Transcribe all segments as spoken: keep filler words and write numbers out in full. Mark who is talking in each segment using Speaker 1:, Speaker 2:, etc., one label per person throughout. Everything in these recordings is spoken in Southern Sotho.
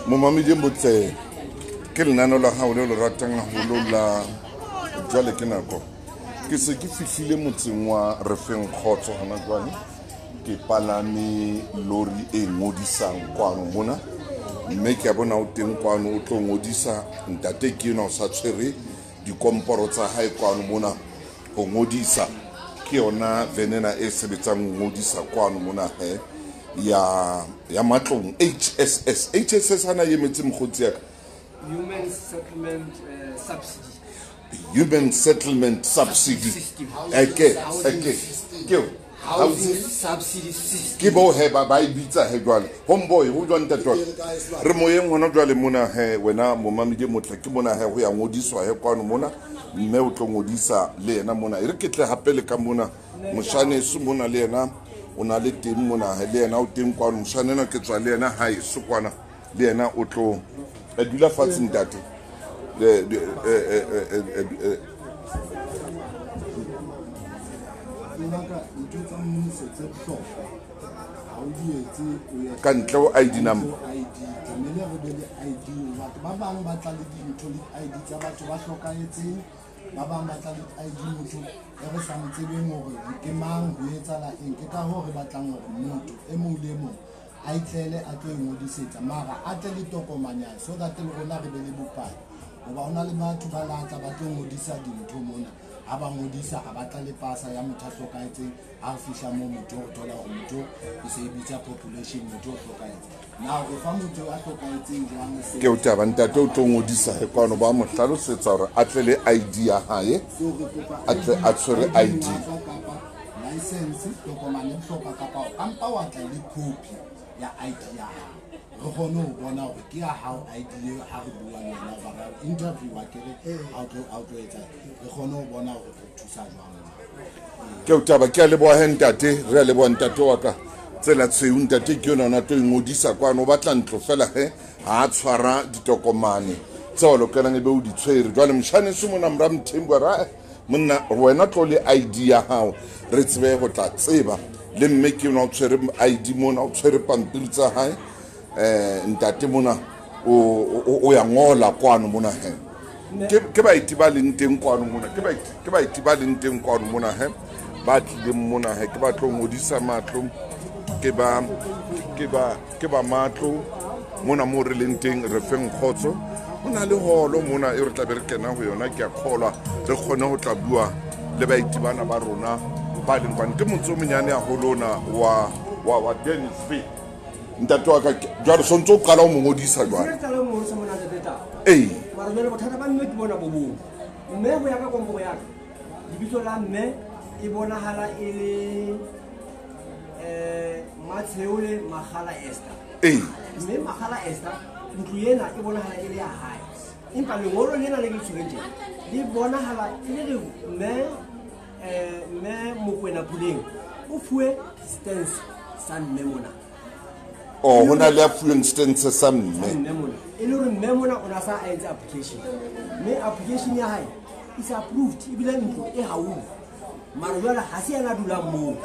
Speaker 1: Momamedi motle ke lenaneo la hao leo le ratang haholo la Jwale ke Nako. Ke se ke fihlile motseng wa Refeng Kgotso hona jwale. Ke palame lori e ngodisang kwano mona, mme ke a bona o teng kwano o tlo ngodisa. Ntate ke enwa o sa tshwere dikomporo tsa hae kwano mona ho ngodisa. Ke yona venena e sebetsang ho ngodisa kwano mona he ya ya matlong H S S. H S S hana emetse mokgotsi ya ka.
Speaker 2: Human Settlement uh, Subsidy.
Speaker 1: Human Settlement Subsidy. Eke eke ke
Speaker 2: Housing Subsidy System.
Speaker 1: Ke bo he ba ba e bitsa he jwale. Homeboy ho jwang ntate wa ka? Re moyeng hona jwale mona he wena momamedi motle ke mona he ho ya ngodiswa he kwano mona, mme o tlo ngodisa le yena mona. E re ke tle hape le ka mona moshaneso mona le yena o na le teng mona he le yena o teng kwano. Moshane ena ke tswa le yena hae so kwana le yena o tlo e dula fatshe ntate. Le e e e ka ntle ho I D number.
Speaker 3: I D tlamehile re be le I D. Batho ba bang ba tla le dintho le I D tsa batho ba hlokahetseng, ba bang ba tla le I D motho e re sa mo tsebeng hore ke mang, ho etsahala eng. Ke ka hoo re batlang hore motho e mong le e mong a itlele a tlo ingodisetsa, mara a tle le tokomane ya so that le rona re be le bopaki. Hoba ho na le batho ba latla ba tlo ngodisa dintho mona, ha ba ngodisa ha ba tla le pasa ya motho a hlokahetseng. Ha re fihla moo motho o thola hore motho e se e bitsa population, motho o hlokahetse. Na o fa motho a hlokahetseng jwang se?
Speaker 1: Ke o taba ntate o tlo ngodisa he kwano, ba mo hlalosetsa hore a tle le I D ya hae, a tle a tshwere I D
Speaker 3: kapa license, tokomane e bohlokwa, kapa o kampa wa tla le copy ya I D ya hao. Re kgone ho bona hore ke ya hao I D eo ha re bua le wena, hoba ra interview a kere ha o tlo ha o tlo etsa, re kgone ho bona hore re thusa jwang.
Speaker 1: Ke o taba, ke a leboha he ntate, re a leboha ntate wa ka. Tsela tshweu ntate ke yona ona tlo ingodisa kwano, o batla ntlo fela he ha a tshwara ditokomane tseo o lokelang e be o di tshwere. Jwale moshaneso mona mora Mthembu a re, monna wena tlo le I D ya hao re tsebe ho tla tseba. Le mme ke yona o tshwere I D mona, o tshwere pampiri tsa hae. Eh ntate mona o o ya ngola kwano mona he. Ke ke baeti ba leng teng kwano mona, ke baeti ke baeti ba leng teng kwano mona he, ba tlileng mona he, ke ba tlo ngodisa matlo, ke ba ke ba ke ba matlo mona mo re leng teng Refeng Kgotso. Ho na le holo mona e re tla be re kena ho yona, ke a kgolwa re kgone ho tla bua le baeti bana ba rona ba leng kwano. Ke motse o monyane haholo ona wa wa wa Dennisville. Ntate wa ka jwale so ntso o qala ho mo ngodisa jwale?
Speaker 2: Ke qala ho mo ngodisa mona ntate Tau.
Speaker 1: Ee.
Speaker 2: Mara jwale bothata ba mme ke bona bo bong. Mme ho ya ka komporo ya ka, lebitso la mme e bonahala e le, eh, Matsheole Makgala Esther.
Speaker 1: Ee.
Speaker 2: Mme Makgala Esther, ntlo ena e bonahala e le ya hae. Empa lengolo lena le ke le tshwereng tjena, le bonahala e le re mme, eh, mme Mokoena Puleng o fuwe stance sa mme mona.
Speaker 1: Oh, ho na le a fuweng stance sa mme.
Speaker 2: Mme mona. E le hore mme mona o na sa a entse application. Mme application ya hae is approved, ebile ntlo e haufi. Mara jwale ha se yena a dulang moo.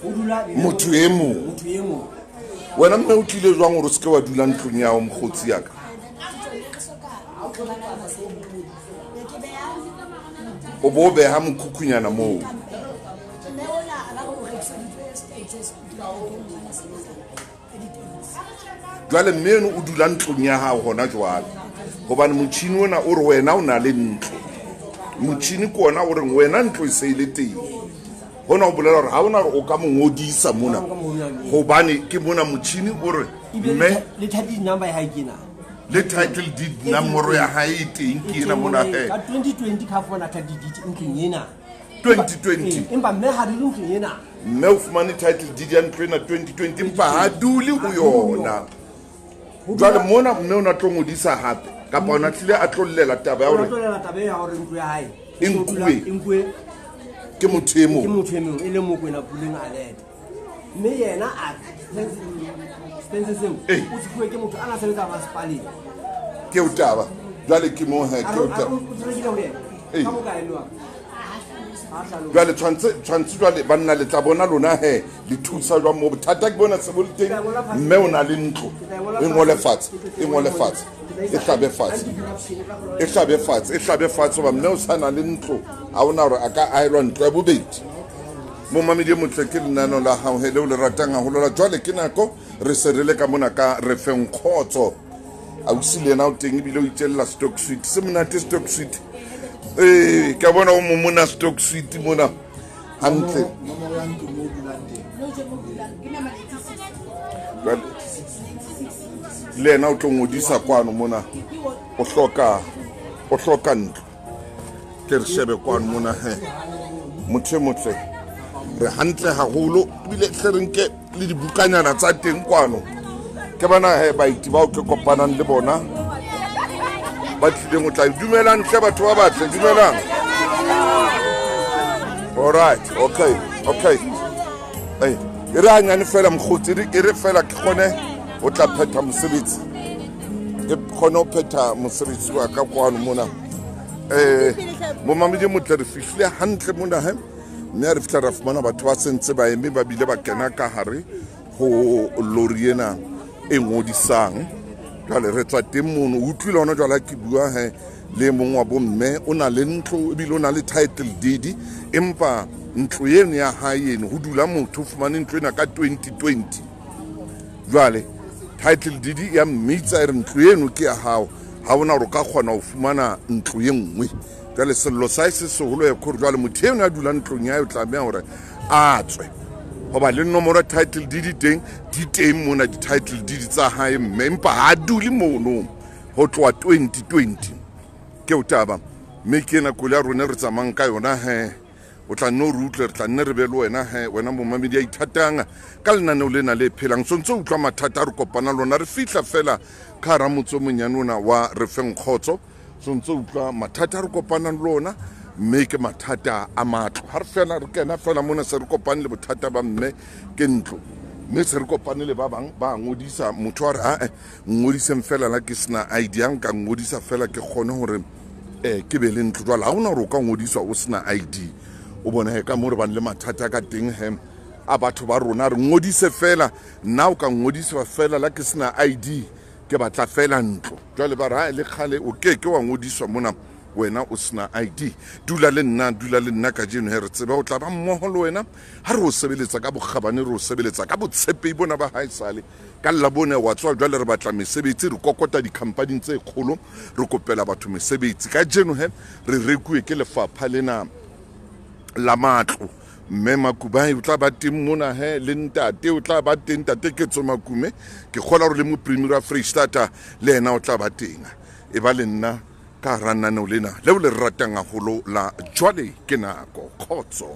Speaker 2: Ho dula
Speaker 1: motho e mong.
Speaker 2: Motho e mong.
Speaker 1: Wena mme o tlile jwang hore o se ke wa dula ntlong ya hao mokgotsi ya ka? O bo beha mokhukhunyana moo. Jwale mme eno o dula ntlong ya hao hona jwale, hobane motjhini ona o re wena o na le ntlo. Motjhini ke ona o reng wena ntlo e se e le teng. Hona o bolela hore ha ona hore o ka mo ngodisa mona, hobane ke mona motjhini o re mme
Speaker 2: le title deed number ya hae ke ena.
Speaker 1: Le title deed nomoro ya hae e teng ke ena mona he.
Speaker 2: Ka twenty twenty ka fumana title deed ntlong ena.
Speaker 1: twenty twenty.
Speaker 2: Empa mme ha dule ntlong ena.
Speaker 1: Mme o fumane title deed ya ntlo ena twenty twenty, empa ha dule ho yona. Jwale mona mme o na tlo ngodisa hape kapa o na tlile a tlo llela taba ya hore
Speaker 2: O tlo llela taba ya hore ntlo ya hae
Speaker 1: e nkuwe.
Speaker 2: E nkuwe.
Speaker 1: Ke motho e mong.
Speaker 2: Ke motho e mong, e le Mokoena Puleng a leta. Mme yena a stance seo o se fuwe ke motho a na sebetsa masepaleng.
Speaker 1: Ke o taba. Jwale ke mo he, ke o taba.
Speaker 2: O rekile ho yena. Ka bokae mme wa ka?
Speaker 1: Jwale tshwantse tshwantse jwale banna le tla bona lona he le thusa jwang mo bothata ke bona se bo le teng mme o na le ntlo e ngole fatshe e ngole fatshe e hlabe fatshe e hlabe fatshe e hlabe fatshe ba mme o sana le ntlo ha ona hore a ka aelwa ntlo ya bobedi. Momamedi motle ke lenano la hao he leo le ratang haholo la jwale ke nako re se re le ka mona ka re feng kgotso. Ausi le yena o teng ebile o itjella stock sweet se monate stock sweet. Eh ke bona o momona stock sweet mona hantle. Le yena o tlo ngodisa kwano mona o hloka o hloka ntlo. Ke re shebe kwano mona he motho motle re hantle haholo ebile hle re nke le dibukanyana tsa teng kwano. Ke bana he baeti bao ke kopanang le bona ba tlileng ho tla dumelang hle batho ba batle dumelang. All right, okay, okay. Hey, e re hanyane fela mokgotsi e re fela ke kgone ho tla phetha mosebetsi. Ke kgone ho phetha mosebetsi wa ka kwano mona. Eh momamedi motle re fihlile hantle mona he mme re fihla ra fumana batho ba sentse ba eme ba bile ba kena ka hare ho lori ena e ngodisang. Jwale re tswa teng mono o utlwile hona jwale ke bua he le mong wa bomme o na le ntlo ebile o na le title deed empa ntlo eno ya hae eno ho dula motho o fumane ntlo ena ka twenty twenty. Jwale title deed ya mmitsa e re ntlo eno ke ya hao ha ona hore o ka kgona ho fumana ntlo e nngwe. Jwale sello sa se seholo ya khore jwale motho eno ya dulang ntlong ya hae o tlameha hore a tswe hoba le nomoro title deed teng di teng mona di title deed tsa hae mme empa ha dule mono ho tloha twenty twenty. Ke o taba mme ke ena koloi ya rona re tsamayang ka yona he o tla nne o re utlwe re tla nne re be le wena he wena momamedi ya ithatang ka lenaneo lena le phelang. So ntse o utlwa mathata a re kopana lona re fihla fela ka hara motse o monyane ona wa re feng kgotso. So ntse o utlwa mathata a re kopanang le ona mme ke mathata a matlo. Ha re fela re kena fela mona se re kopane le bothata ba mme ke ntlo mme se re kopane le ba bang ba ngodisa motho a re ae ngodiseng fela la ke sena I D ya nka ngodisa fela ke kgone hore eh ke be le ntlo. Jwale ha hona hore o ka ngodiswa o sena I D o bone he ka mo re bang le mathata ka teng he a batho ba rona re ngodise fela nna o ka ngodiswa fela la ke sena I D ke batla fela ntlo. Jwale ba re ha le kgale o ke ke wa ngodiswa mona wena o sena I D. Dula le nna dula le nna kajeno he re tsebe o tla ba mmoho le wena ha re o sebeletsa ka bokgabane re o sebeletsa ka botshepehi bona ba haesale ka Labone wa tswa. Jwale re batla mesebetsi re kokota di-company tse kgolo re kopela batho mesebetsi. Kajeno he re rekuwe ke lefapha lena la matlo mme Makubai o tla ba teng mona he le ntate o tla ba teng ntate Ketso Makume ke kgola hore le mopremier wa Freistata le yena o tla ba teng. E ba le nna ka hara lenaneo lena leo le ratang haholo la jwale ke nako kgotso.